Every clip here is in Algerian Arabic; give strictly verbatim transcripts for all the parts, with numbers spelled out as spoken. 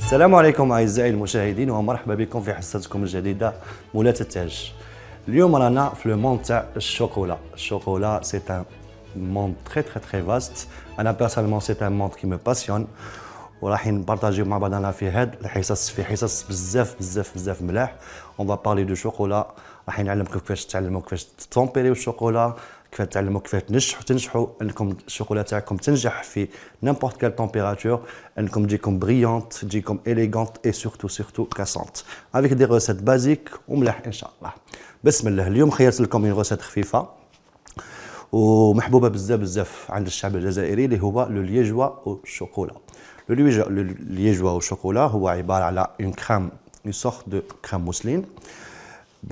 السلام عليكم اعزائي المشاهدين ومرحبا بكم في حصتكم الجديده مولات التاج. اليوم رانا في لو موند تاع الشوكولا. الشوكولا سي ان موند تري تري تري فاست. انا بيرسونيلمون سي ان موند كي مو باسيون وراح نبارطاجيو مع بعضنا في هاد الحصص في حصص بزاف بزاف بزاف ملاح. اون فا بارلي دو شوكولا، راح نعلمكم كيفاش تعلموا كيفاش تطومبيريو الشوكولا، كيفاش تعلموا كيفاش تنجحوا تنجحوا انكم الشوكولا تاعكم تنجح في نيمبورت كال تمبيراتور، انكم تجيكم بريونت تجيكم اليغانت اي سورتو سورتو كاسونت افيك دي روسيت بازيك وملاح ان شاء الله. بسم الله. اليوم خيرت لكم اون روسيت خفيفه ومحبوبه بزاف بزاف عند الشعب الجزائري اللي هو لو ليجوا او شوكولا. لو ليجوا او شوكولا هو عباره على اون كريم اون سورت دو كريم موسلين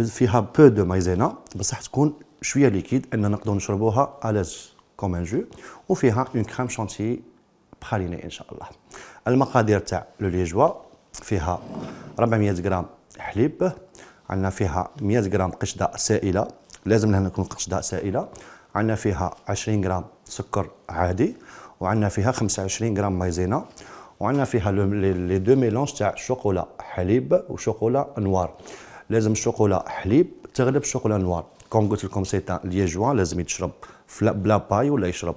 فيها بو دو مايزينا بصح تكون شويه ليكيد ان نقدروا نشربوها الاز كوم ان جو، وفيها اون كريم شانتي براليني ان شاء الله. المقادير تاع لو ليجوا فيها أربعمية غرام حليب، عندنا فيها مية غرام قشده سائله، لازم لها تكون قشده سائله، عندنا فيها عشرين غرام سكر عادي، وعندنا فيها خمسة وعشرين غرام مايزينا، وعندنا فيها لي دو ميلونج تاع شوكولا حليب وشوكولا نوار. لازم الشوكولا حليب تغلب الشوكولا نوار. كون قلت لكم سي تان ليجوا لازم يتشرب بلا باي ولا يشرب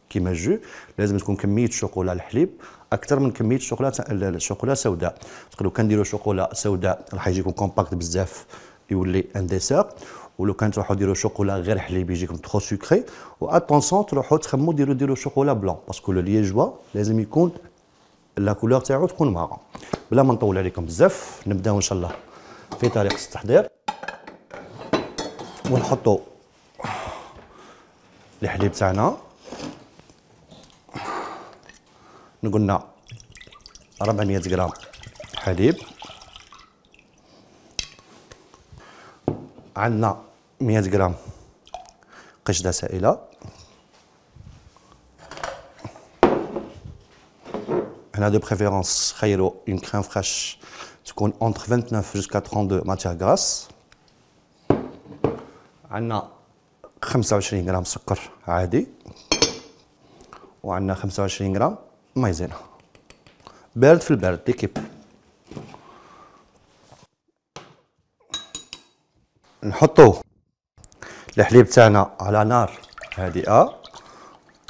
كيما جو. لازم تكون كميه الشوكولا الحليب اكثر من كميه الشوكولا الشوكولا سوداء. لو كان نديروا شوكولا سوداء راح يجيكم كومباكت بزاف يولي ان ديسير، ولو كان تروحوا ديروا شوكولا غير حليب يجيكم ترو سكري. واتونسون تروحوا تخمموا ديروا ديروا شوكولا بلون باسكو لو ليجوا لازم يكون لا كولور تاعو تكون مارون. بلا ما نطول عليكم بزاف نبداو ان شاء الله في طريقه التحضير. ونحطوا الحليب تاعنا، نقولنا أربعمية غرام حليب، عندنا مية غرام قشده سائله، هنا دو بريفيرونس خيروا اون كريم فريش تكون اونتر تسعة وعشرين جوسكا اثنين وثلاثين ماتيير غراس، عندنا خمسة وعشرين غرام سكر عادي، وعندنا خمسة وعشرين غرام مايزينا بارد في البارد ليكيب. نحطو الحليب تاعنا على نار هادئه.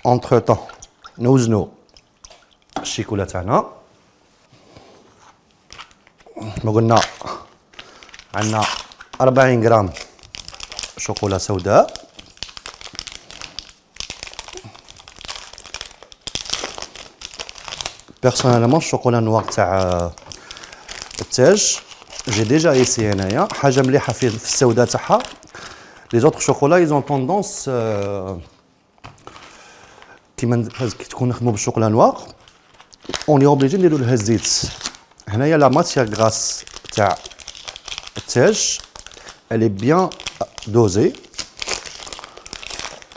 اونتر طون نوزنو الشيكولا تاعنا. ما قلنا عندنا أربعين غرام شوكولا سوداء، بيرسونيلمون الشوكولا نوار تاع التاج جي ديجا ايسي هنايا حاجه مليحه في السوداء تاعها. لي زوطخ شوكولا ايزون طوندونس كيما تكون نخدمو بالشوكولا نوار اوني اوبليجي نديرو لها الزيت. هنايا لا ماتيير غراس تاع التاج الي بيان دوزي،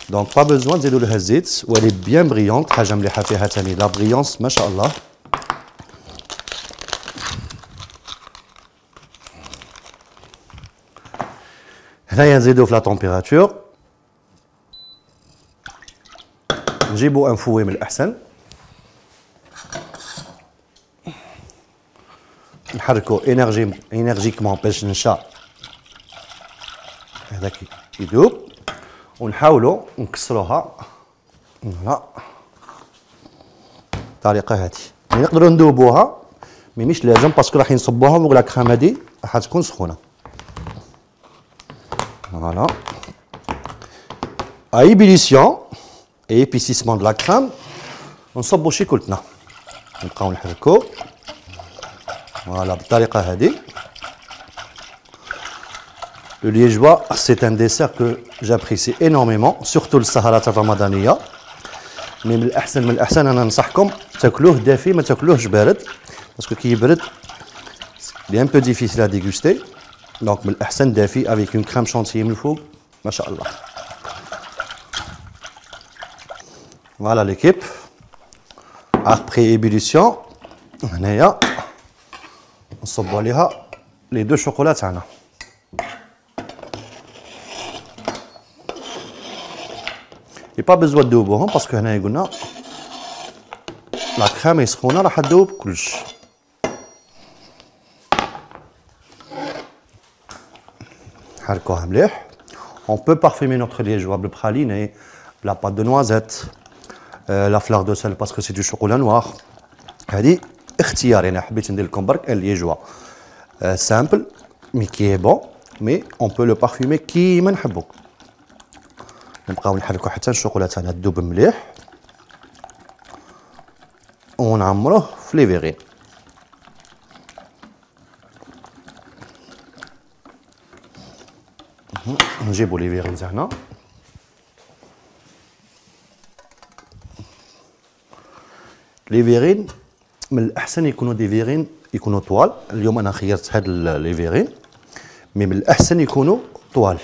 دونك با بوزوان تزيدو لها الزيت، والي بيان بريونت. حاجه مليحه فيها تاني لا بريونس ما شاء الله. هنايا نزيدو في لا تمبيراتور، نجيبو ان فوي من الاحسن، نحركو انرجي انرجيكمون باش نشا هذاك يذوب، ونحاولوا نكسروها فوالا الطريقه هذه. نقدروا ندوبوها مي مش لازم باسكو راح نصبوها فوق لا كريم هذه راح تكون سخونه فوالا. اي بيليسيون اي بيسيسمون دو لا كريم نصبوا شيكولتنا، نبقاو نحركو فوالا بالطريقه هذه. Le liégeois, c'est un dessert que j'apprécie énormément, surtout السهرات الرمضانية. مي من الأحسن من الأحسن أنا ننصحكم تاكلوه دافي ما تاكلوهش بارد، باسكو كي يبرد لي ان بو ديفيسيل ا ديغوستي. دونك من الأحسن دافي افيك اون كريم شانتيي من الفوق ما شاء الله. فوالا ليكيب ابخي ايبوليسيون هنايا نصبوا عليها لي دو شوكولا تاعنا. اي با بزوا تذوبوهم باسكو هنايا قلنا لا كريم سخونه راح تذوب كلش. نحركوها مليح. On peut parfumer notre liégeois بالpraliné, la pâte de noisette, euh, la fleur de sel parce que c'est du chocolat noir. هذه اختياري، انا حبيت ندير لكم برك اليجوا سامبل مي كي بون، مي اون بو لو بارفيمي كيما نحبو. نبقاو نحركو حتى الشوكولا تاعنا تذوب مليح ونعمروه في لي فيغين. نجيبو لي فيغين تاعنا، لي فيغين من الأحسن يكونوا دي فيغين يكونوا طوال. اليوم أنا خيرت هاد لي فيغين، مي من الأحسن يكونوا طوال.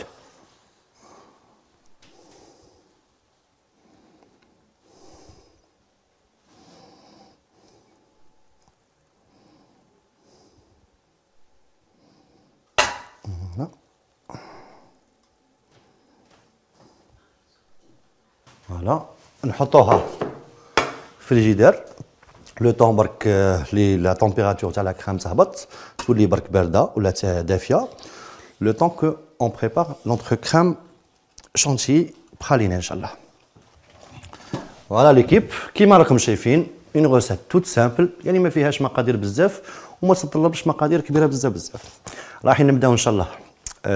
فوالا نحطوها في الفريجيدير لو طون برك لي لا تمبيراتور تاع لا كريم تهبط، تولي برك بارده ولا دافيه، لو طون كو اون بريبار نوتر كريم شانتي براليني ان شاء الله. فوالا ليكيب كيما راكم شايفين اون غوسيت توت سامبل، يعني ما فيهاش مقادير بزاف وما تتطلبش مقادير كبيره بزاف بزاف. رايحين نبداو ان شاء الله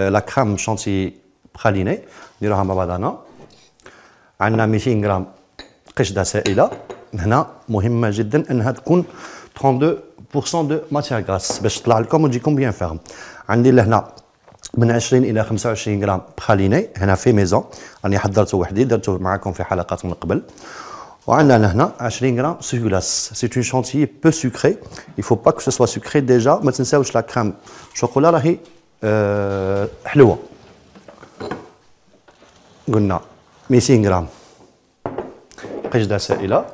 لا كريم شانتي براليني نديروها مع بعضنا. عندنا مئتين غرام قشده سائله، هنا مهمه جدا انها تكون اثنين وثلاثين بالمئة دو ماتيير غراس باش تطلع لكم وتجيكم بيان فيرم. عندي لهنا من عشرين الى خمسة وعشرين غرام براليني هنا في ميزون، راني حضرته وحدي درته معكم في حلقات من قبل. وعندنا لهنا عشرين غرام سوغلاس، سي اون شانتيي بو سكري، il faut pas que ce soit sucré déjà. ما تنساوش لا كريم شوكولا راهي أه حلوه. قلنا مئتين غرام قشده سائله،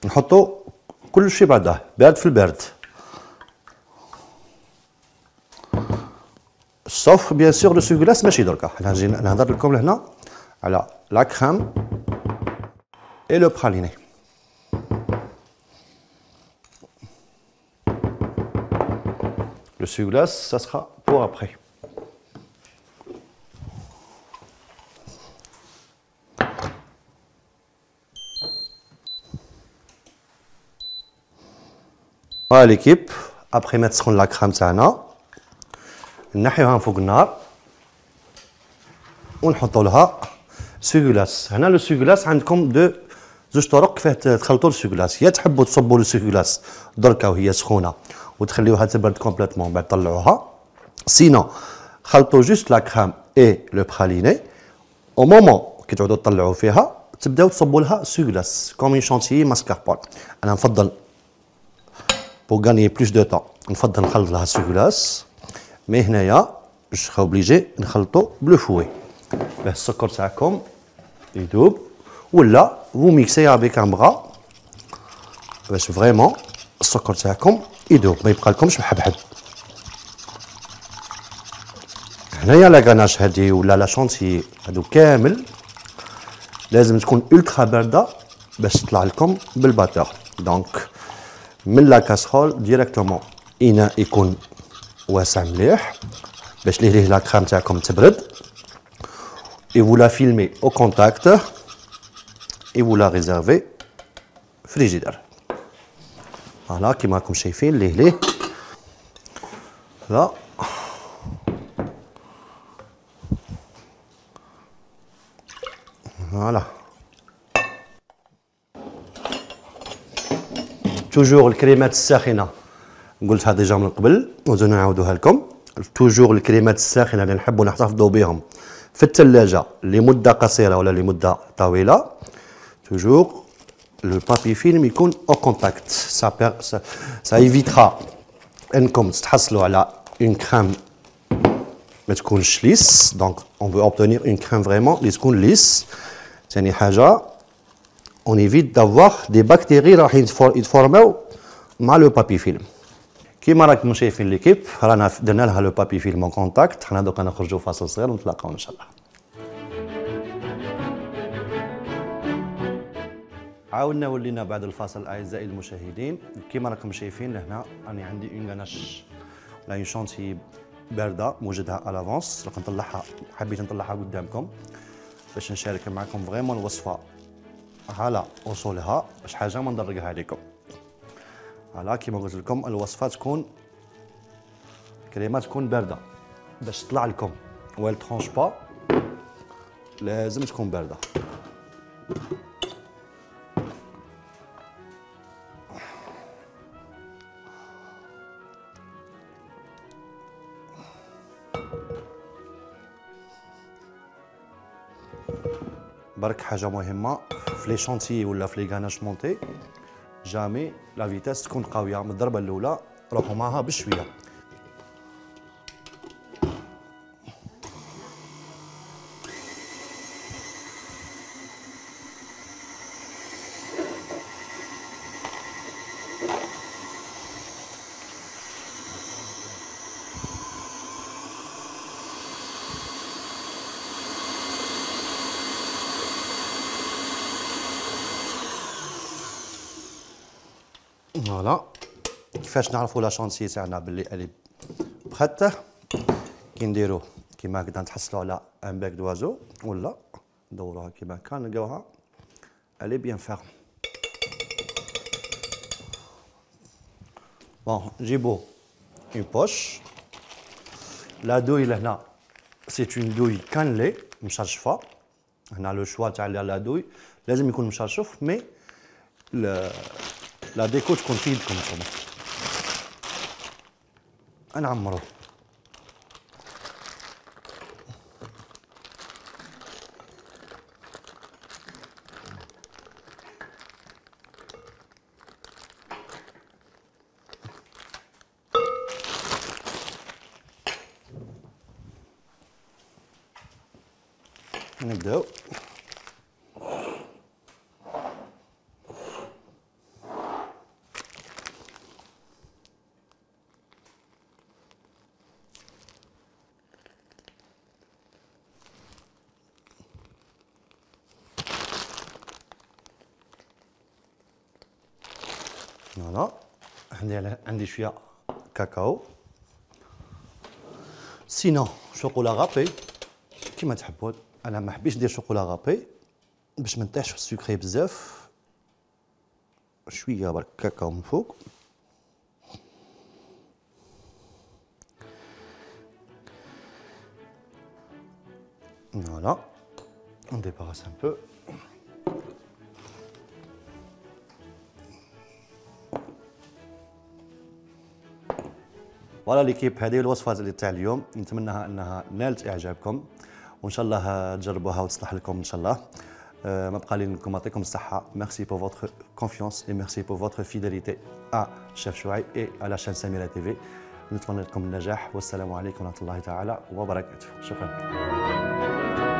نحطو كل شيء بعده بارد في البارد، سوف بيان سور لو سوغلاس ماشي دركا. حنا نجي نهضر لكم لهنا على لا كريم اي لو براليني. لو سوغلاس ça sera pour après. فوالا ليكيب ابخي ما تسخن لا كريم تاعنا نحيوها فوق النار ونحطوا لها سوغلاس. هنا لو سوغلاس عندكم دو زوج طرق كيفاه تخلطوا السوغلاس، يا تحبوا تصبوا السوغلاس دركا وهي سخونه وتخليوها تبرد كومبليتمون بعد طلعوها، سينو خلطوا جوست لا كريم اي لو براليني او مومون كي تعودوا تطلعوا فيها تبداو تصبوا لها سوغلاس كوم اون شانتيي ماسكاربون. انا نفضل pour gagner plus de temps نفضل نخلط لها سوغلاس، مي هنايا باش اوبليجي نخلطو بلو فوي باه السكر تاعكم يذوب، ولا فو ميكسي افيك ان بغا باش فريمون السكر تاعكم يذوب ما يبقى لكمش محبحب. هنايا لا غاناش هادي ولا لا شونتي هادو كامل لازم تكون الترا بارده باش تطلع لكم بالباتور. دونك من لا كاسرول ديريكتومون اناء يكون واسع مليح باش ليه ليه لا كريم تاعكم تبرد، et vous la filmez au contact et vous la réservez frigidaire. فوالا كيما راكم شايفين ليه ليه لا فوالا. توجور الكريمات الساخنه قلتها ديجا من قبل وزيد نعاودوها لكم. توجور الكريمات الساخنه اللي نحبوا نحتفظوا بهم في الثلاجه لمده قصيره ولا لمده طويله، توجور لو بابي فيلم يكون او كونتاكت. سا سا ايفيترا انكم تحصلوا على اون كريم ما تكونش ليس. دونك اون فو اوبتونير اون كريم فريمون اللي تكون ليس. ثاني حاجه on évite d'avoir des bactéries راح يتفورماو مع لو بابي فيلم. كيما راكم شايفين ليكيب رانا درنا لها لو بابي فيلم اون كونتاكت. حنا دوكا نخرجوا فاصل صغير ونتلاقاو ان شاء الله. عاودنا ولينا بعد الفاصل اعزائي المشاهدين. كيما راكم شايفين لهنا راني عندي اون غاناش لا شونتي بارده موجدها على لافونس. راح نطلعها، حبيت نطلعها قدامكم باش نشارك معكم فريمون الوصفه على اصولها، باش حاجه ما ندرقها عليكم. فوالا كيما قلت لكم الوصفه تكون كريمه تكون بارده باش تطلع لكم ويل ترونش با، لازم تكون بارده. برك حاجه مهمه في لي شونتي ولا في لي غاناش مونتي، جامي لا فيتاس تكون قويه من الضربه الاولى، روحوا معها بشويه. فوالا كيفاش نعرفوا لا شونتي تاعنا باللي الي بخاته، كي نديروه كيما هكذا نتحصلوا على ان باك دوازو ولا ندوروها كيما هكا نلقاوها الي بيان فيرم. بون نجيبو اون بوش. لا دوي لهنا سي اون دوي كانلي مشرشفه، هنا لو شوا تاع لا دوي لازم يكون مشرشف، مي لا ديكو تكون في يدكم نتوما. نعمرو نبداو. فوالا عندي عندي شويه كاكاو، سينو شوكولا غابي كيما تحبوا. انا ما حبيتش ندير شوكولا غابي باش ما نطيحش في السكري بزاف، شويه برك كاكاو من فوق. فوالا on débarrasse un peu. فوالا ليكيب، هذه الوصفات اللي تاع اليوم نتمنىها انها نالت اعجابكم، وان شاء الله تجربوها وتصلح لكم ان شاء الله. أه ما بقى لي لكم يعطيكم الصحه. ميرسي بور فوتر كونفيونس اي ميرسي بور فوتر فيداليتي ا شيف شعيب اي على شان سميرة تي في. نتمنى لكم النجاح والسلام عليكم ورحمه الله تعالى وبركاته. شكرا.